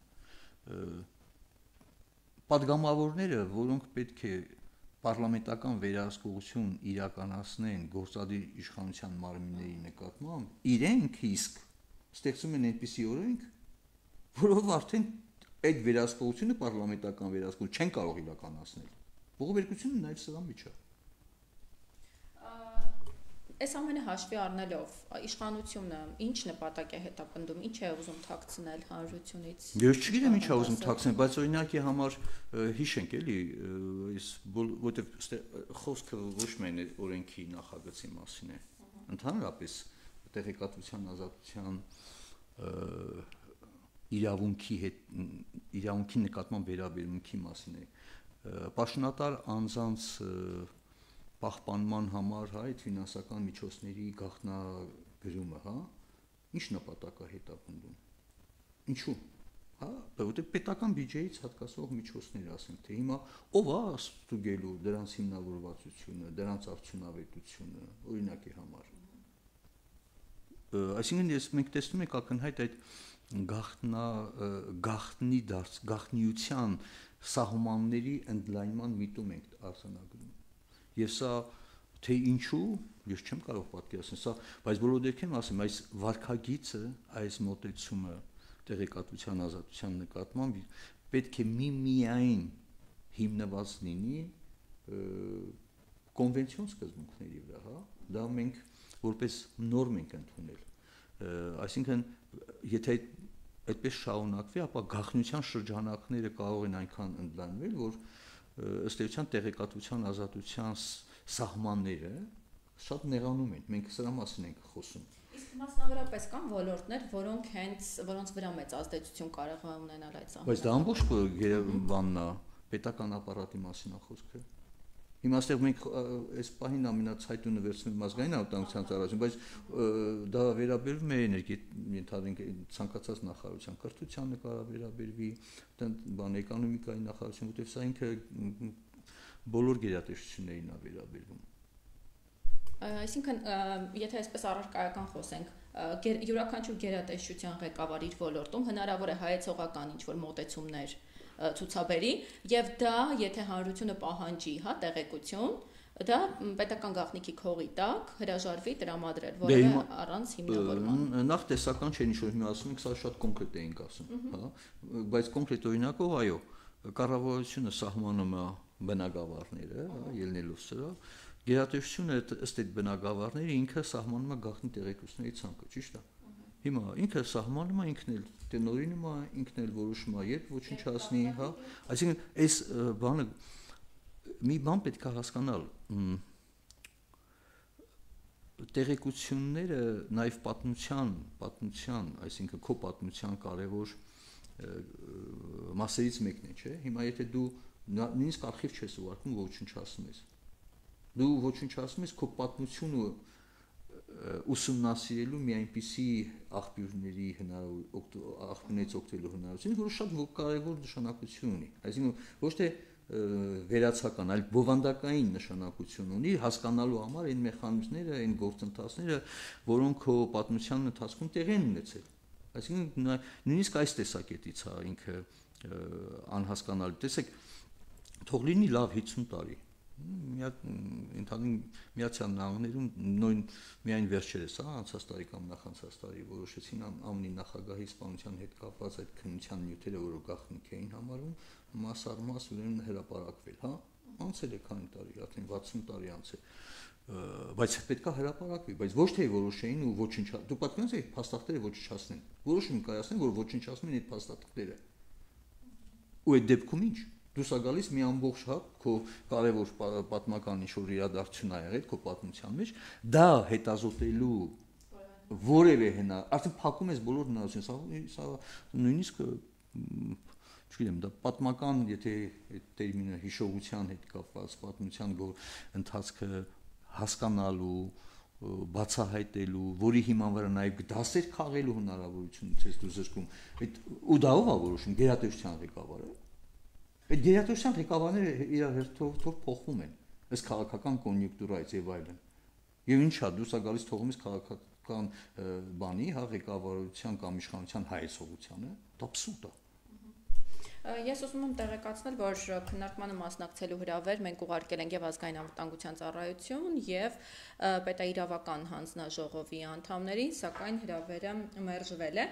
Պատգամավորները, որոնք պետք է պարլամենտական վերահսկողություն իրականացնեն գործադիր իշխանության մարմինների նկատմամբ, իրենք իսկ ստեղծում են այնպիսի օրենք, որով արդեն այդ վերահսկողությունը պարլամենտական վերահսկողություն չեն կարող իրականացնել։ Բողոքարկությունը նաև սրա մեջ է։ Այս ամենը հաշվի առնելով իշխանությունը ինչ նպատակ է հետապնդում, ինչ է ուզում թաքցնել հանրությունից։ Ես չգիտեմ ինչ է ուզում թաքցնել, բայց օրինակի համար հիշենք էլի, այս որտեղ խոսքը ոչ միայն օրենքի նախագծի մասին է, ընդհանրապես տեղեկատվության ազատության իրավունքի հետ իրավունքի նկատմամբ վերաբերմունքի մասին է։ Պաշտոնատար անձանց պահպանման համար հա այդ ֆինանսական միջոցների գաղտնագրումը, հա, ինչ նպատակ է հետապնդում։ Ինչու՞։ Հա, որտեղ պետական բյուջեից հատկացող միջոցներ, ասենք, թե հիմա ով է ստուգելու դրանց հիմնավորվածությունը, դրանց արդյունավետությունը, օրինակի համար։ Այսինքն ես մենք տեսնում ենք ակնհայտ այդ գաղտնա գաղտնի դարձ գաղտնիության սահմանների ընդլայնման միտում ենք արձանագրում։ Եվ սա թե ինչու, ես չեմ կարող պատկերացնել, սա, բայց բոլոր դեպքերում ասեմ, այս վարքագիծը, այս մոտեցումը տեղեկատվության ազատության նկատմամբ պետք է միմիայն հիմնված լինի կոնվենցիոն սկզբունքների վրա, հա, դա մենք որպես նորմ ենք ընդունել։ Այսինքն, եթե այդպես շարունակվի, ապա գաղտնիության շրջանակները կարող են այնքան ընդլայնվել, որ ըստ էության տեղեկատվության ազատության սահմանները շատ նեղանում են։ Մենք սրա մասին ենք խոսում։ Իսկ մասնավորապես կան ոլորտներ, որոնք հենց որոնց վրա մեծ ազդեցություն կարող է ունենալ այդ սահմանը։ Բայց դա ամբողջ բանն է, պետական ապարատի մասին է խոսքը։ Հիմա այստեղ մենք այս պահին ամենացայտունը վերցնում ազգային անվտանգության ծառայություն, բայց դա վերաբերվում է ենթադրենք ցանկացած նախարարության, կրթությանը կարող վերաբերվի, բան էկոնոմիկայի նախարարություն, որտեղ սա ինքը բոլոր գերատեսչություններին է վերաբերվում։ Այսինքն, եթե այսպես առարկայական խոսենք, յուրաքանչյուր գերատեսչության ղեկավար իր ոլորտում հնարավոր է հայեցողական ինչ-որ մոտեցումներ ցուցաբերի, եւ դա, եթե հանրությունը պահանջի, հա, տեղեկություն, դա պետական գաղտնիքի քողի տակ հրաժարվի տրամադրել, որը առանց հիմնավորման։ Նախ տեսական չէ, ինչ որ հիմա ասում ենք, սա շատ կոնկրետ էինք ասում, հա, բայց կոնկրետ օրինակով, այո, կառավարությունը սահմանում է բնակավարները, հա, ելնելով սրա, գերատեսչությունը ըստ այդ բնակավարների ինքը սահմանում է գաղտնի տեղեկությունների ցանկը, ճիշտ է։ Հիմա ինքը սահմանում է, ինքն էլ տնօրինում է, ինքն էլ որոշում է, երբ ոչնչացնի, հա։ Այսինքն, այս բանը մի բան պետք է հասկանալ, տեղեկությունները նաև պատմության, պատմության, այսինքն քո պատմության կարևոր մասերից մեկն է, չէ՞։ Հիմա եթե դու նույնիսկ արխիվ չես ուղարկում, ոչնչացնում ես։ Դու ոչնչացնում ես քո պատմությունը ուսումնասիրելու մի այնպիսի աղբյուրների աղբյուրներից օգտվելու հնարավորություն, որը շատ կարևոր նշանակություն ունի։ Այսինքն ոչ թե վերացական, այլ բովանդակային նշանակություն ունի հասկանալու համար այն մեխանիզմները, այն գործընթացները, որոնք քո պատմության ընթացքում տեղի են ունեցել։ Այսինքն նույնիսկ այս տեսակետից է ինքը անհասկանալի։ Տեսեք, թող լինի լավ հիսուն տարի։ Ընդհանուր Միացյալ Նահանգներում նույն միայն վերջերս, հա, անցած տարի կամ նախանցած տարի որոշեցին ամնի նախագահի սպանության հետ կապված այդ քննության նյութերը, որը գաղտնիք էին համարում, մաս առ մաս ուրեմն հրապարակվել, հա, անցել է քանի տարի, արդեն վաթսուն տարի անցել, բայց պետք է հրապարակվի, բայց ոչ թե որոշեին ու ոչնչացնեն, դու պատկերացնում ես այդ փաստաթղթերը ոչնչացնեն, որոշում կայացնեն, որ ոչնչացնեն այդ փաստաթղթերը, ու այդ դեպքում ինչ դու սա գալիս մի ամբողջ հա քո կարևոր պատմական ինչ-որ իրադարձություն ա եղել քո պատմության մեջ, դա հետազոտելու որևէ հնա, արդեն փակում ես բոլոր հնարավորությունները, սա նույնիսկ չգիտեմ, դա պատմական, եթե այդ տերմինը հիշողության հետ կապված, պատմության ընթացքը հասկանալու, բացահայտելու, որի հիման վրա նաև դասեր քաղելու հնարավորությունից ես դու զրկում, ու դա ով է որոշում, գերատեսչության ղեկավարը։ Այդ գերատեսչության ղեկավարները իրար հերթով փոխվում են, այս քաղաքական կոնյունկտուրայից եւ այլն։ Եվ ինչա, դու սա գալիս թողում ես քաղաքական բանի, հա, ղեկավարության կամ իշխանության հայեցողությանը, դա абսուրդ է։ Ես ուզում եմ տեղեկացնել, որ քննարկմանը մասնակցելու հրավեր մենք ուղարկել ենք եւ ազգային անվտանգության ծառայություն եւ պետաիրավական հանձնաժողովի անդամներին, սակայն հրավերը մերժվել է։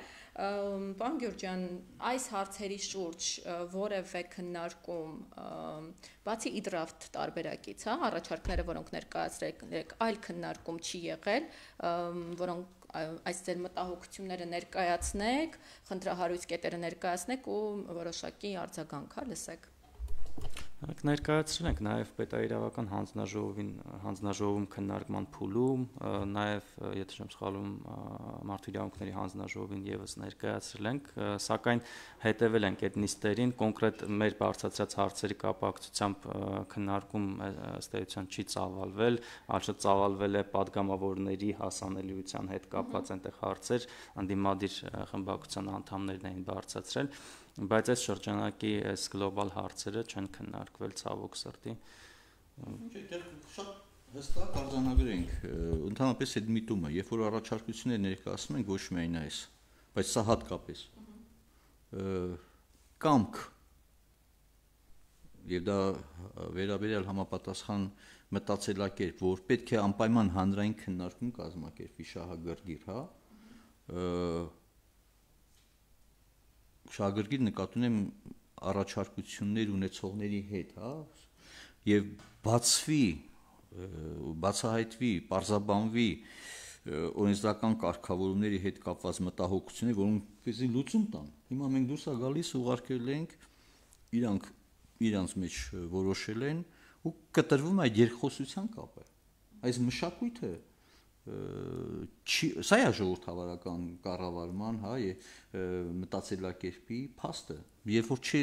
Պարոն Գյուրջյան, այս հարցերի շուրջ որևէ քննարկում, բացի իդրաֆտ տարբերակից, հա, առաջարկները, որոնք ներկայացրել եք, այլ քննարկում չի եղել, որոնք այս ձեր մտահոգությունները ներկայացնեք, խնդրահարույց կետերը ներկայացնեք ու որոշակի արձագանք լսեք։ Մենք ներկայացրել ենք նաև պետաիրավական հանձնաժողովին հանձնաժողովում քննարկման փուլում, նաև, եթե չեմ սխալվում, մարդու իրավունքների հանձնաժողովին եւս ներկայացրել ենք, սակայն հետևել ենք այդ նիստերին, կոնկրետ մեր բարձրացած հարցերի կապակցությամբ քննարկում ըստ էության չի ծավալվել, այլ ծավալվել է падգամավորների հասանելիության հետ կապված այնտեղ հարցեր, անդիմադիր խմբակցության անդամներն էին բարձրացրել, բայց այս շրջանակի այս գլոբալ հարցերը չեն քննարկվել ցավոք սրտի։ Շատ հստակ արձանագրենք, ընդհանրապես այդ միտումը, երբ որ առաջարկություններ ներկայացնում ենք ոչ միայն այս, բայց սա հատկապես կամք եւ դա վերաբերյալ համապատասխան մտածելակերպ, որ պետք է անպայման հանրային քննարկում կազմակերպվի շահագրգիռ, հա, շահագրգիռ նկատի ունեմ առաջարկություններ ունեցողների հետ, հա, եւ բացվի, բացահայտվի, պարզաբանվի օրենսդրական կարգավորումների հետ կապված մտահոգություններ, որոնք լուծում տան։ Հիմա մենք դուրս ա գալիս ուղարկել ենք, իրանք իրանց մեջ որոշել են ու կտրվում այդ երկխոսության կապը։ Այս մշակույթը սա է ժողովրդավարական կառավարման, հա, մտածելակերպի փաստը, երբ որ չի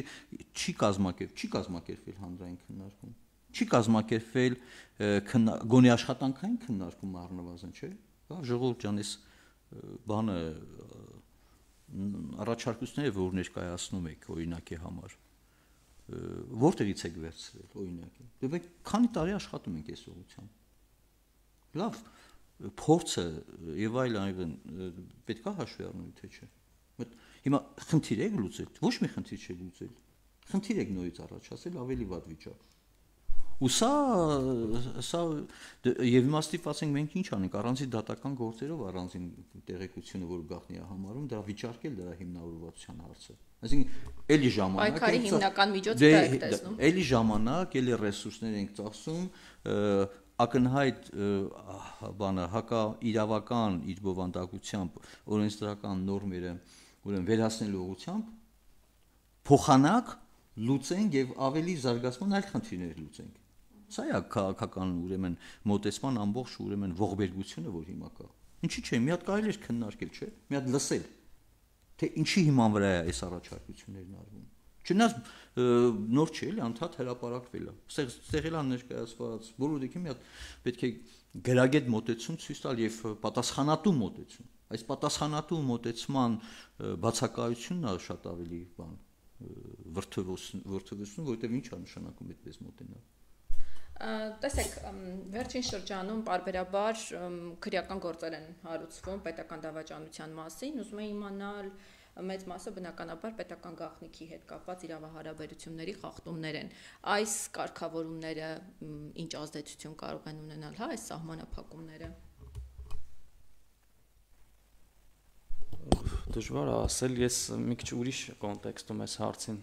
չի կազմակերպ, չի կազմակերպվել հանրային քննարկում, չի կազմակերպվել գոնե աշխատանքային քննարկում առնվազն, չէ՞։ Հա, ժողովուրդ ջան, այս բանը առաջարկությունները, որ ներկայացնում եք օրինակի համար, որտեղից եք վերցրել օրինակի։ Դե մենք քանի տարի աշխատում ենք այս ուղղությամբ։ Լավ, փորձը եւ այլ այլն պետք է հաշվի առնել, թե չէ։ Հիմա խնդիր եք լուծել, ոչ մի խնդիր չի լուծել։ Խնդիր եք նորից առաջացել ավելի վատ վիճակ։ Ու սա սա եւ իմաստիված ենք մենք ինչ անենք առանձին դատական գործերով առանձին տեղեկությունը, որ գաղտնի է համարում, դրա վիճարկել դրա հիմնավորվածության հարցը։ Այսինքն էլի ժամանակ պայքարի հիմնական միջոցը դա եք տեսնում։ Էլի ժամանակ, էլի ռեսուրսներ ենք ծախսում, ակնհայտ բանը հակա իրավական իր բովանդակությամբ օրենսդրական նորմերը ուրեմն վերացնելու ուղղությամբ փոխանակ լուծենք եւ ավելի զարգացման այլ խնդիրներ լուծենք։ Սա է քաղաքական ուրեմն մոտեցման ամբողջ ուրեմն ողբերգությունը, որ հիմա կա։ Ինչի՞ չէ, մի հատ կարելի է քննարկել, չէ՞, մի հատ լսել, թե ինչի հիման վրա է այս առաջարկություններն արվում։ Չնայած նոր չէ, էլի անդադ հրապարակվել է։ Ստեղել է ներկայացված, բոլորիքի մի հատ պետք է գրագետ մոտեցում ցույց տալ եւ պատասխանատու մոտեցում։ Այս պատասխանատու մոտեցման բացակայությունն է շատ ավելի բան վրթովություն, որովհետեւ ինչ է նշանակում այդպես մոտենալ։ Տեսեք, վերջին շրջանում պարբերաբար քրեական գործեր են հարուցվում պետական դավաճանության մասին, ուզում եմ իմանալ մեծ մասը բնականաբար պետական գաղտնիքի հետ կապված իրավահարաբերությունների խախտումներ են։ Այս կարգավորումները ինչ ազդեցություն կարող են ունենալ, հա, այս սահմանափակումները։ Դժվար է ասել, ես մի քիչ ուրիշ կոնտեքստում այս հարցին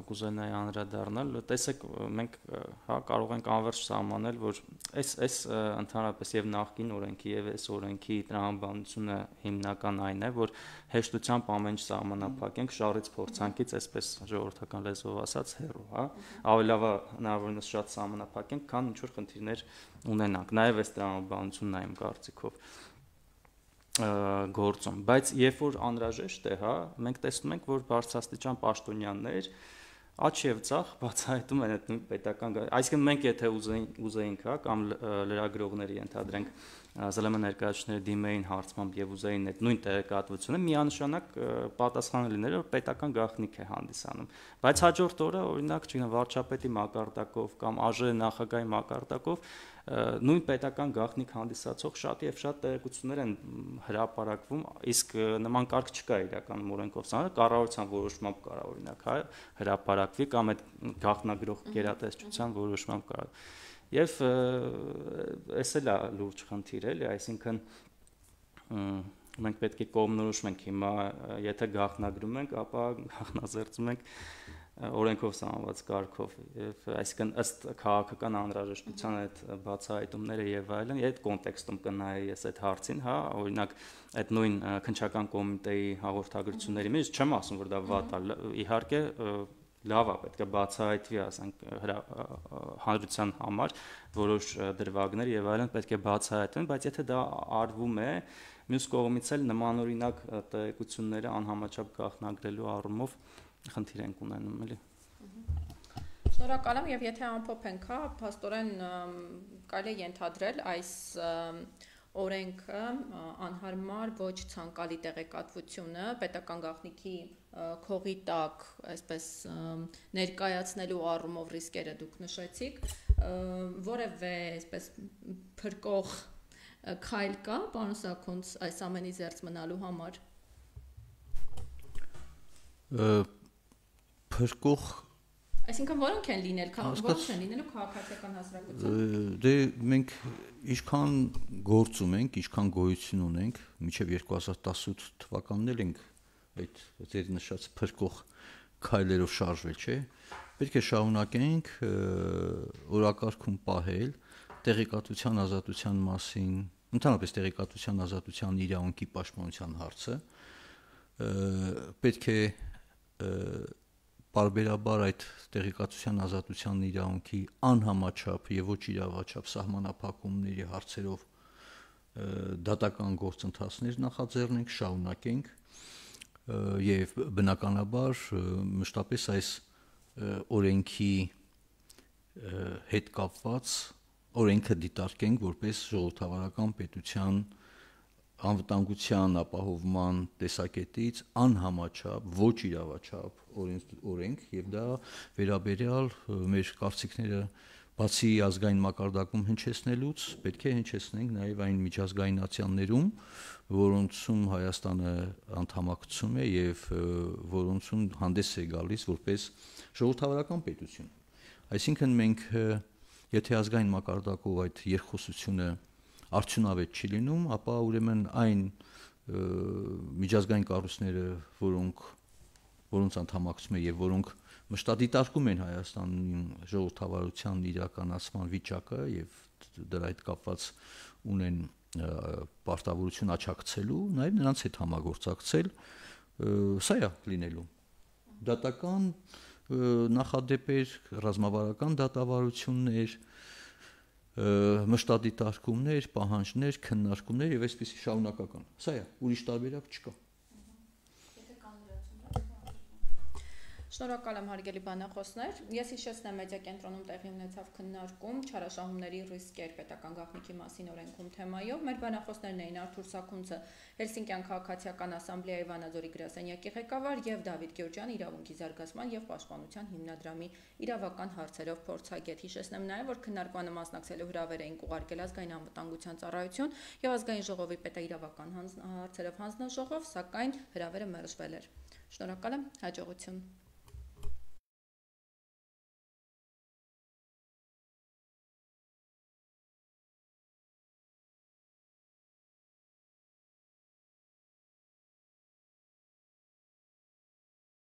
կուզենայի անդրադառնալ։ Տեսեք, մենք հա կարող ենք անվերջ սահմանել, որ այս այս ընդհանրապես եւ նախկին օրենքի եւ այս օրենքի տրամաբանությունը հիմնական այն է, որ հեշտությամբ ամեն ինչ սահմանափակենք շարից փորձանքից, այսպես ժողովրդական լեզվով ասած, հեռու, հա։ Ավելի լավ է հնարավորինս շատ սահմանափակենք, քան ինչ որ խնդիրներ ունենանք։ Նաեւ այս տրամաբանությունն է իմ կարծիքով գործում, բայց երբ որ անհրաժեշտ է, հա, մենք տեսնում ենք, որ բարձրաստիճան պաշտոնյաներ աչ եւ ցախ բացահայտում են այդ պետական, այսինքն մենք եթե ուզեինք, հա, կամ լրագրողների ընդհանրենք ԶԼՄ ներկայացուցիչները դիմեին հարցմամբ եւ ուզեին այդ նույն տեղեկատվությունը միանշանակ պատասխանը լինել, որ պետական գաղտնիք է հանդիսանում։ Բայց հաջորդ օրը, օրինակ, չգիտեմ, վարչապետի մակարդակով կամ ԱԺ նախագահի մակարդակով նույն պետական գաղտնիք հանդիսացող շատ եւ շատ տեղեկություններ են հրապարակվում, իսկ նման կարգ չկա իրականում օրենքով սահմանված, կառավարության որոշմամբ կարող օրինակ հա հրապարակվի կամ այդ գաղտնագրող գերատեսչության որոշմամբ կարող։ Եվ էս էլ է լուրջ խնդիր էլի, այսինքն մենք պետք է կողմնորոշում ենք հիմա, եթե գաղտնագրում ենք, ապա գաղտնազերծում ենք օրենքով սահմանված կարգով, եւ այսինքն ըստ քաղաքական անհրաժեշտության այդ բացահայտումները եւ այլն, այդ կոնտեքստում կնայի ես այդ հարցին, հա, օրինակ այդ նույն քննչական կոմիտեի հաղորդագրությունների մեջ չեմ ասում, որ դա վատ է, իհարկե լավ է, պետք է բացահայտվի, ասենք, հանրության համար որոշ դրվագներ եւ այլն պետք է բացահայտվեն, բայց եթե դա արվում է, մյուս կողմից էլ նմանօրինակ տեղեկությունները անհամաչափ գաղտնագրելու առումով խնդիր ենք ունենում, էլի։ Շնորհակալ եմ, եւ եթե ամփոփենք, հա, փաստորեն կարելի է ենթադրել այս օրենքը անհարմար ոչ ցանկալի տեղեկատվությունը պետական գաղտնիքի քողի տակ, այսպես ներկայացնելու առումով ռիսկերը դուք նշեցիք, որևէ այսպես փրկող քայլ կա, պարոն Սաքունց, այս ամենի զերծ մնալու համար։ Փրկող Այսինքն որոնք են լինել, որոնք են լինելու քաղաքացիական հասարակության։ Դե մենք ինչքան գործում ենք, ինչքան գոյություն ունենք, մինչև երկու հազար տասութ թվականն էլ ենք այդ ձեր նշած փրկող քայլերով շարժվել, չէ՞։ Պետք է շարունակենք օրակարգում պահել տեղեկատվության ազատության մասին, ընդհանրապես տեղեկատվության ազատության իրավունքի պաշտպանության հարցը, պետք է բարբերաբար այդ տեղեկատվության ազատության իրավունքի անհամաչափ եւ ոչ իրավաչափ սահմանափակումների հարցերով դատական գործընթացներ նախաձեռնենք, շարունակենք եւ բնականաբար մշտապես այս օրենքի հետ կապված օրենքը դիտարկենք որպես ժողովրդավարական պետության անվտանգության ապահովման տեսակետից անհամաչափ ոչ իրավաչափ օրենք եւ դա վերաբերյալ մեր կարծիքները բացի ազգային մակարդակում հնչեցնելուց պետք է հնչեցնենք նաեւ այն միջազգայնացիաներում, որոնցում Հայաստանը անդամակցում է եւ որոնցում հանդես է գալիս որպես ժողովրդավարական պետություն։ Այսինքն մենք եթե ազգային մակարդակով այդ երկխոսությունը արդյունավետ չի լինում, ապա ուրեմն այն միջազգային կառույցները, որոնք որոնց անդամակցում է եւ որոնք մշտադիտարկում են Հայաստանի ժողովրդավարության իրականացման վիճակը եւ դրա հետ կապված ունեն պարտավորություն աչակցելու, նաեւ նրանց հետ համագործակցել, սա է լինելու։ Դատական նախադեպեր, ռազմավարական դատավարություններ, մշտադիտարկումներ, պահանջներ, քննարկումներ եւ այսպիսի շարունակական։ Սա է, ուրիշ տարբերակ չկա։ Շնորհակալ եմ հարգելի բանախոսներ։ Ես հիշեցնեմ մեդիա կենտրոնում տեղի ունեցավ քննարկում չարաշահումների ռիսկեր պետական գաղտնիքի մասին օրենքում թեմայով։ Մեր բանախոսներն էին Արթուր Սաքունցը, Հելսինկյան քաղաքացիական ասամբլեայի Վանաձորի գրասենյակի ղեկավար եւ Դավիթ Գյուրջյանը, իրավունքի զարգացման եւ պաշտպանության հիմնադրամի իրավական հարցերով փորձագետ։ Հիշեցնեմ նաեւ, որ քննարկմանը մասնակցելու հրավեր էին ուղարկել ազգային անվտանգության ծառայություն եւ ազգային ժողովի պետաիրավական հարցերով հանձնաժողով, սակայն հրավերը մերժվել էր։ Շնորհակալ եմ, հաջողություն։